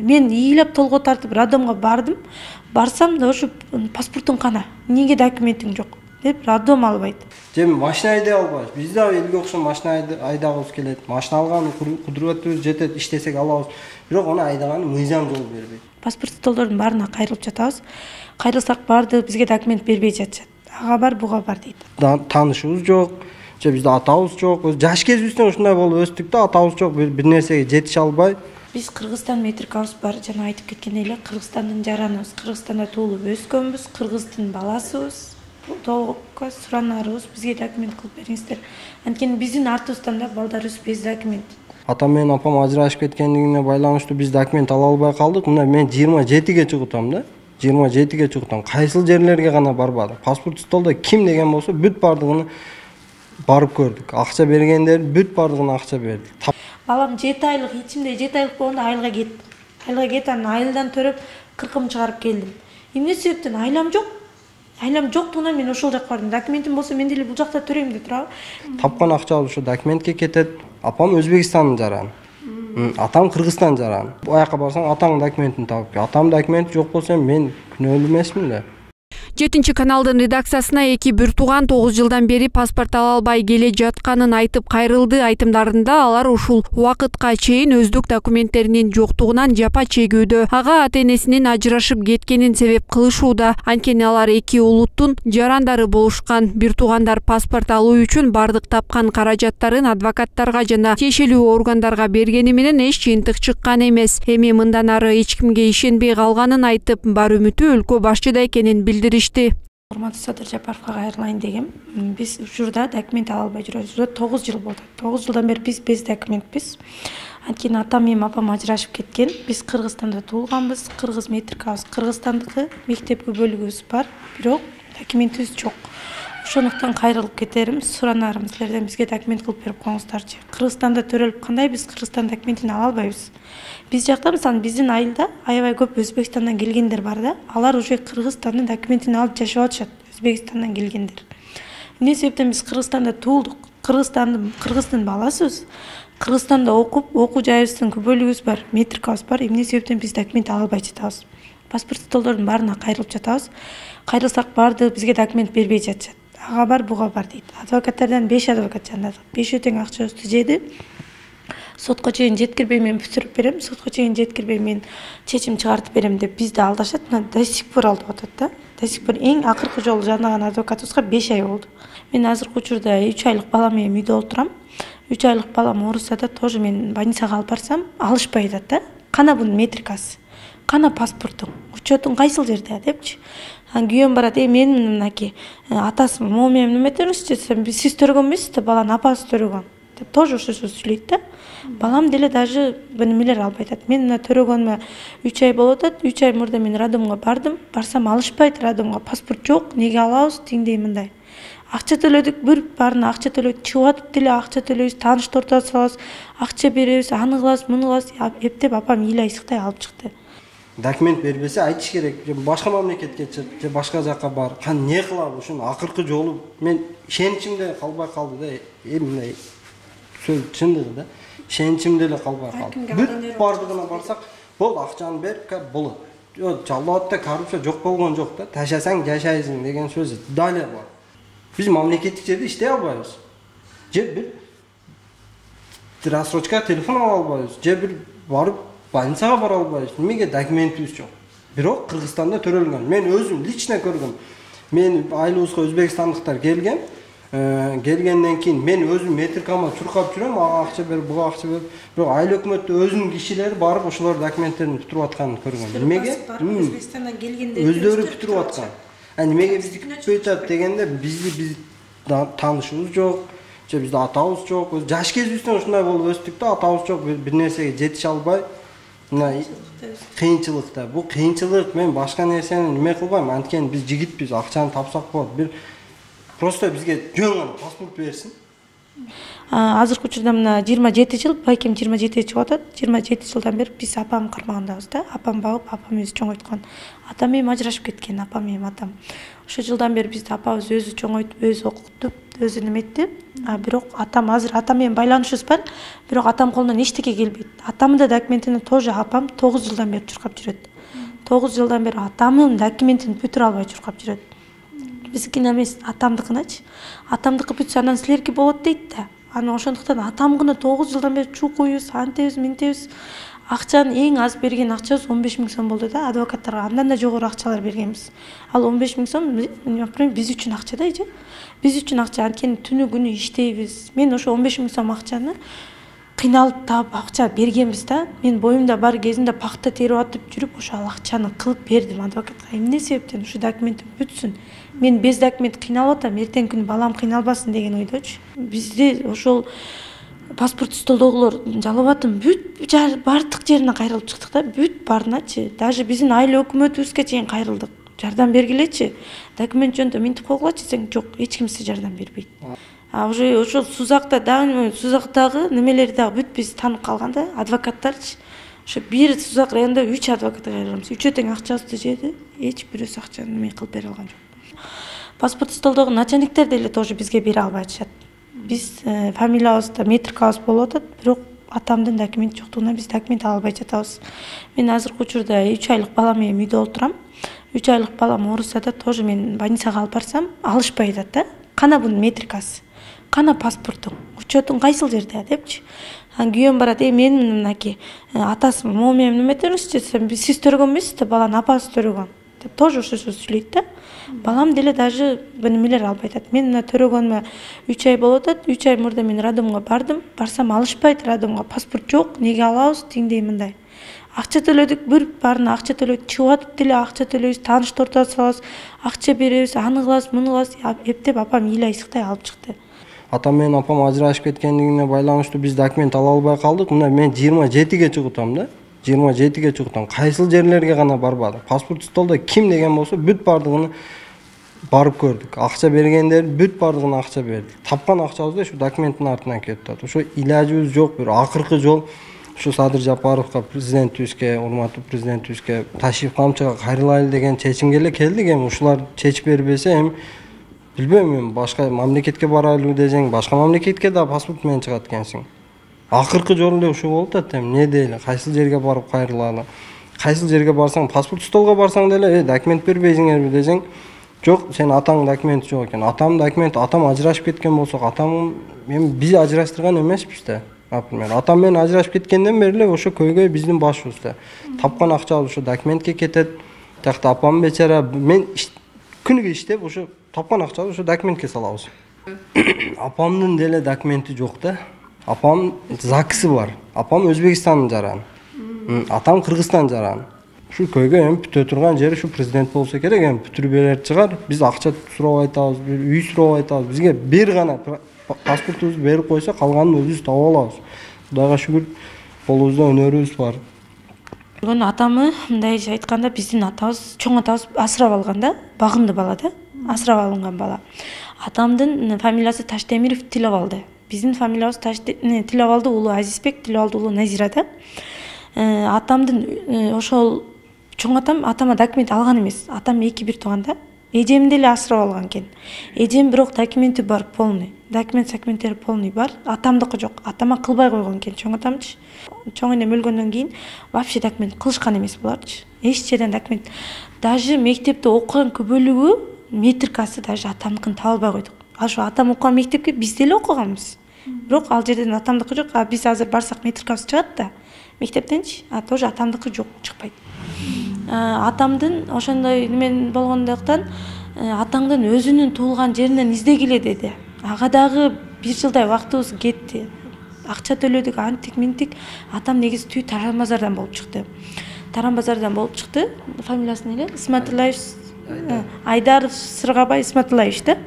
Мен ыйлап толго тартып роддомго бардым. Барсам да ошо паспортуң кана, эмнеге документиң жок деп роддом албайт. Же машина айдай албайбыз. Биз да элге окшоп машина айдагыбыз келет. Машина алган кудуратыбыз жетет, иштесек алабыз. Бирок аны айдаганы мыйзам жол бербейт. Паспорт столдордун баарына кайрылып жатабыз. Кайрылсак барды бизге документ бербей жатышат. Ага бар, буга бар дейт. Таанышыбыз жок, же бизде атабыз жок. Жаш кезибизден ушундай болуп өстүк да, атабыз жок, бир нерсеге жетише албай. Биз Кыргызстан метрикабыз бар, жана айтып кеткен эле, Кыргызстандын жараныбыз, Кыргызстанда туулуп өскөнбүз, кыргыздын баласыбыз. Толукка суранарыбыз, бизге документ кылып бериңиздер. Анткени биздин артыбыздан да балдарыбыз без документ. Атам менен апам ажырашып кеткендигине байланыштуу биз документ ала албай калдык. Мына мен 27ге чыгытам да. 27ге чыгытам. Кайсыл жерлерге гана барбадым. Паспорт столдо ким деген болсо бүт бардыгын барып көрдүк. Акча бергендер бүт бардыгына акча бердик. Балам 7 айлык, ичимде 7 айлык болгондо айылга кеттим. Айылга кетип анан айылдан төрөп 40 чыгарып келдим. Эмне себептен айлам жок? Айлам жоктугунан мен ошол жакка бардым. Документим болсо мен деле бул жакта төрөйм деп турабы. Тапкан акчабыз ошо документке кетет. Апам Өзбекстандын жараны. Атам Кыргызстан жараны. Аяка барсаң атаңдын документин табып кел. Атам документи жок болсо мен күнөөлүү эмесмин да. 7 каналдын редакциясына эки бир тууган 9 жылдан бери паспорт ала албай келе жатканын айтып кайрылды. Айтымдарында алар ушул убакытка чейин өздүк документтеринин жоктугунан жапа чегүүдө. Ага ата-энесинин ажырашып кеткенин себеп кылышууда. Анткени алар эки улуттун жарандары болушкан. Бир туугандар паспорт алуу үчүн бардык тапкан каражаттарын адвокаттарга жана тиешелүү органдарга бергени менен эч жыйынтык чыккан эмес. Эми мындан ары эч кимге ишенбей калганын айтып, бар үмүтү өлкө башчыда экенин билдиришти. Урматтуу Садыр Жапаровго кайрылайын дегем. Биз учурда документ ала албай жүрөбүз. 9 жыл болду. 9 жылдан бери биз без документпиз. Анткени атам менен апам ажырашып кеткен. Биз Кыргызстанда туулганбыз. Кыргыз метрикабыз Кыргызстандыкы, мектепке бөлүгүбүз бар, бирок документибиз жок. Ошондуктан кайрылып кетерим, суранарым силерден бизге документ кылып берип коюңуздарчы. Кыргызстанда төрөлүп кандай биз Кыргызстан документин ала албайбыз. Биз жакта мисалы биздин айылда аябай көп Өзбекстандан келгендер бар да. Алар уже Кыргызстандын документин алып жашап атышат, Өзбекстандан келгендер. Эмне себептен биз Кыргызстанда туулдук, кыргыздын баласыбыз. Кыргызстанда окуу жайыбыздын бөлүгүбүз бар, метрикабыз бар. Эмне себептен биз документ ала албай жатабыз. Паспорт столдордун баарына кайрылып жатабыз. Кайрылсак барды бизге документ бербей жатышат. Ага бар, буга бар дейт. Адвокаттардан 5 адвокат жандадык. 5 тең акчабызды жеди. Сотко чейин жеткирбей мен бүтүрүп берем, сотко чейин жеткирбей мен чечим чыгартып берем деп бизди алдашат. Мына до сих пор алдап атат да. До сих пор эң акыркы жолу жандаган адвокатыбызга 5 ай болду. Мен азыркы учурда 3 айлык балам менен үйдө отурам. 3 айлык балам ооруса да тоже мен больницага алып барсам, алышпай атат да. Кана бунун метрикасы, кана паспортуң, учетуң кайсыл жерде депчи. Күйөөм барат, мен мынакей атасы могу менен эметемизчи десем, сиз төрөгөн эмессиз да, баланын апасы төрөгөн деп тоже ошо сөз сүйлөйт да. Балам деле даже бенемелер албай атат. Мен мына төрөгөнүмө 3 ай болуп атат. 3 ай мурда мен роддомго бардым. Барсам алышпайт роддомго. Паспорт жок, неге алабыз, тиңдей мындай. Акча төлөдүк, бир баарына акча төлөйт. Чыгып атып деле акча төлөйбүз, тааныштуу ортого салабыз, акча беребиз, аны кылабыз, муну кылабыз. Эптеп апам ыйлай сыктай алып чыкты. Документ бербесе айтыш керек. Же башка мамлекетке чык, же башка жакка бар. Не кылабыз? Ушун акыркы жолу мен ишеничимде калбай калды да. Мындай сөз чындыгы да. Ишеничимде эле калбай калды. Бүт бардыгына барсак, бол акчаны бер, болот. Жалоотта коррупция жок болгон жок да. Ташасаң жашайсың деген сөз дале бар. Биз мамлекеттик жерде иштей албайбыз. Же бир рассрочка телефон ала албайбыз. Же бир барып больницага бара албайбыз. Немеге документибиз жок. Бирок Кыргызстанда төрөлгөн. Мен өзүм лично көргөм. Мен айылыбызга өзбекстандыктар келген. Келгенден кийин мен өзүм метрикама чуркап жүрөм, ага акча бер, буга акча бер. Бирок айыл өкмөттө өзүнүн кишилери барып ошолор документтерин бүтүрүп атканын көргөм. Немеге? Өзбекстандан келгендер өздөрү бүтүрүп аткан. Немеге бизди күтпөй атат дегенде биз таанышыбыз жок, же бизде атабыз жок. Жаш кезибизден ушундай болуп өстүк да, атабыз жок, бир нерсеге жетише албай. Мына кыйынчылыкта. Бул кыйынчылык, мен башка нерсени неме кылбайм. Анткени биз жигитпиз, акчаны тапсак болот. Бир просто бизге жөн гана паспорт берсин. Азыркы учурда мына 27 жыл, балким 27 чыгып атат. 27 жылдан бери биз апам кармагандабыз да. Апам багып, апам өзү чоңойткон. Атам менен ажырашып кеткен, апам менен атам. Ошо жылдан бери бизди апабыз өзү чоңойтуп, өзү окуттуп, өзү неметти. Бирок атам азыр атам менен байланышыбыз бар. Бирок атам колунан эчтеке келбейт. Атамдын да документин тоже апам 9 жылдан бери чуркап жүрөт. 9 жылдан бери атамдын документин бүтүрө албай чуркап жүрөт. Биздикине эмес, атамдыкыначы. Атамдыкы бүтсө анан силерге болот дейт да. Анан ошондуктан атам гана 9 жылдан бери чукуйбуз, антебиз, минтебиз. Акчанын эң аз берген акчабыз 15 000 сом болду да, адвокаттарга андан да жогору акчалар бергенбиз. Ал 15 000 сом биз үчүн акча да, биз үчүн акча. Анткени түнү күнү иштейбиз. Мен ошо 15 000 сом акчаны кыйналып таап акча бергенбиз да. Мен боюмда бар кезинде пахта терип атып жүрүп ошо акчаны кылып бердим адвокатка. Эмне себептен ушу документим бүтсүн. Мен без документ кыйналып атам, эртең күнү балам кыйналбасын деген ойдочу. Бизди ошол паспорт столдогулар жалап атын бүт бардык жерине кайрылып чыктык да, бүт баарыначы. Даже биздин айыл өкмөтүбүзгө чейин кайрылдык. Жардам бергилечи. Документ жөнүндө минтип койгулачы десең, жок, эч ким сизге жардам бербейт. Уже ошол Сузакта дагы Сузактагы немелери дагы бүт биз таанып калган да, адвокаттарчы. Ошо бир Сузак районунда 3 адвокат кайрылганбыз. Үчөө тең акчабызды жеди, эч бирөөсү акчаны неме кылып бере алган жок. Паспорт столдогу начальниктер деле тоже бизге бере албай атышат. Биз фамилиябызда метрикабыз болуп атат, бирок атамдын документи жоктугунан биз документ ала албай жатабыз. Мен азыркы учурда 3 айлык балам менен үйдө отурам. 3 айлык балам ооруса да, тоже мен больницага алып барсам, алышпай атат да. Кана бунун метрикасы, кана паспортуң, учетуң кайсыл жерде депчи. Анан күйөөм барат, мен мынакей атасы могу менен неметебизчи десем, сиз төрөгөн эмессиз да, баланын апасы төрөгөн. Тоже ошо сөз сүйлөйт да. Балам деле даже немелер албай атат. Мен мына төрөгөнүмө 3 ай болуп атат. 3 ай мурда мен роддомго бардым. Барсам алышпайт роддомго. Паспорт жок, неге алабыз, тиңдей мындай. Акча төлөдүк, бир баарына акча төлөдүк. Чыгып атып деле акча төлөйбүз, тааныш тортуп салабыз, акча беребиз, аны кылабыз, муну кылабыз. Эптеп апам ил айсыктай алып чыкты. Атам менен апам ажырашып кеткендигине байланыштуу биз документ ала албай калдык. Мына мен 27ге чыгытам да. 27ге чыгытам. Кайсыл жерлерге гана барбадым. Паспорт столдо ким деген болсо бүт бардыгын барып көрдүк. Акча бергендер бүт бардыгына акча бердик. Тапкан акчабыз да ушу документтин артынан кетип атат. Ошо илажыбыз жок. Бир акыркы жол ушу Садыр Жапаровго, президентибизге, урматтуу президентибизге Ташиев камчыга кайрылайлы деген чечимге эле келдик. Эми ушулар чечип бербесе, эми билбейм, мен башка мамлекетке барайлы десең, башка мамлекетке да паспорт менен чыгат экенсиң. Акыркы жол эле ушул болуп атат. Эми не дейли? Кайсыл жерге барып кайрылалы? Кайсыл жерге барсаң, паспорт столго барсаң деле, документ бербейсиңерби десең, жок, сен атаң документи жок экен. Атам документ, атам ажырашып кеткен болсок, атам эми биз ажыраштырган эмеспиз да. Например, атам менен ажырашып кеткенден бери эле ошо көйгөй биздин башыбызда. Тапкан акчабыз ошо документке кетет. Такта апам бечара, мен күнүгө иштеп ошо тапкан акчабыз ошо документке салабыз. Апамдын деле документи жок да. Апам ЗАГСы бар. Апам Өзбекстандын жараны. Атам Кыргызстан жараны. Ушу көйгөй эми бүтө турган жери ушу президент болсо керек, эми бүтүрүп берер чыгар. Биз акча сурабай атабыз, үй сурабай атабыз. Бизге бир гана паспортубузду берип койсо, калганын өзүбүз таап алабыз. Кудайга шүгүр, колубузда өнөрүбүз бар. Атамы мындайча айтканда биздин атабыз, чоң атабыз асырап алган да, багымды бала да, асырап алынган бала. Атамдын фамилиясы Таштемиров Тиловалды. Биздин фамилиябыз Тиловалды уулу Азизбек, Тиловалды уулу Назира да. Атамдын ошол чоң атама документ алган эмес. Атам 2-1 тууган да. Эжем деле асырап алган экен. Эжем бирок документи бар, полный. Документтери полный бар. Атамдыкы жок. Атама кылбай койгон экен чоң атамчы. Чоң эне өлгөндөн кийин вообще документ кылышкан эмес буларчы. Эч жерден документ. Даже мектепте окуган бөлүгү метрикасы даже атамдыкын таба албай койдук. Ошо атам окуган мектепке биз деле окуганбыз. Бирок ал жерден атамдыкы жок. Биз азыр барсак метрикабыз чыгат да. Мектептенчи, тоже атамдыкы жок, чыкпайт. Атамдын ошондой немен болгондуктан атаңдын өзүнүн туулган жеринен издегиле деди. Ага дагы 1 жылдай убактыбыз кетти. Акча төлөдүк, антик минтик. Атам негизи түү Таран базардан болуп чыкты. Таран базардан болуп чыкты. Фамилиясы эле Исматылаев, Айдаров Сыргабай Исматылаевич да.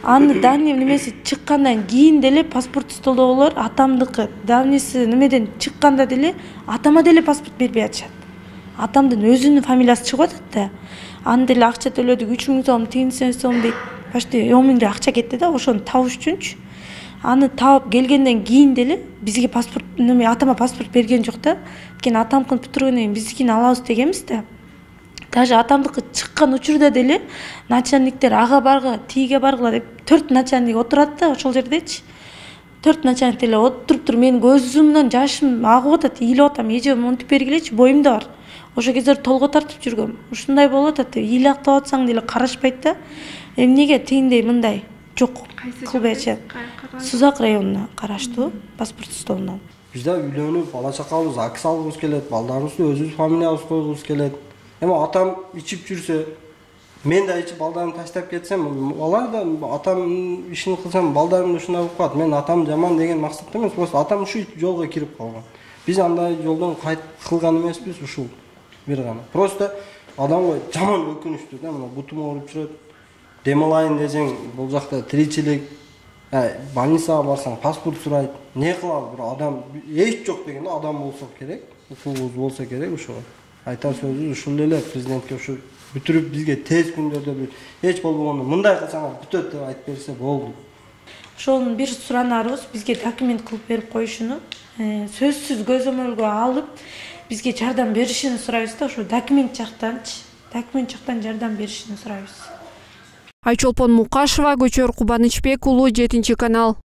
Аны давний немеси чыккандан кийин деле паспорт столдогулар атамдыкы. Давниси немеден чыкканда деле атама деле паспорт бербей атышат. Атамдын өзүнүн фамилиясы чыгып атат да. Аны деле акча төлөдүк, 3000 сом, 1000 сом дейт. Почти 10 000 акча кетти да, ошону табыш үчүнчү. аны таап келгенден кийин деле бизге паспорт атама паспорт берген жок да. Анткени атамкын бүтүргөндөн кийин биздикини алабыз дегенбиз да. Даже атамдыкы чыккан учурда деле начальниктер ага баргыла, тиге баргыла деп 4 начальник отурат да ошол жердечи. 4 начальник деле отуруп менин көзүмдөн жашым агып атат, ыйлап атам, эже монтип бергилечи, боюмда бар. Ошо кездер толго тартып жүргөм. Ушундай болуп атат деп ыйлактап атсаң деле карашпайт да. Эмнеге тигиндей мындай жок кылбайчы. Сузак районуна караштуу паспорт столунан. Бизде үйлөнүп, бала чакабыз АКС алгыбыз келет, балдарыбызды өзүбүз фамилиябыз койгубуз келет. Эми атам ичип жүрсө, мен да ичип балдарымды таштап кетсем, алар да атам ишин кылсам, балдарым ушундай болуп калат. Мен атам жаман деген максатта эмес, просто атам ушул жолго кирип калган. Биз андай жолдон кайт кылган эмеспиз, ушул бир гана. Просто адамга жаман өкүнүчтүү да, мына бутум ооруп жүрөт. Дем алайын десең, бул жакта тиричилик, больницага барсаң паспорт сурайт. Не кылабыз, бир адам эч жок дегенде адам болсо керек, укугубуз болсо керек ошого. Айтар сөзүбүз ушул эле, президентке ушу бүтүрүп бизге тез күндөрдө эч болбогондо мындай кылсаңар бүтөт деп айтып берсе болду. Ошонун бир суранарыбыз бизге документ кылып берип коюшуну, сөзсүз көзөмөлгө алып бизге жардам беришини сурайбыз да, ошо документ жактан жардам беришини сурайбыз. Айчолпон Мукашева, Көчөр Кубанычбек уулу, 7 канал.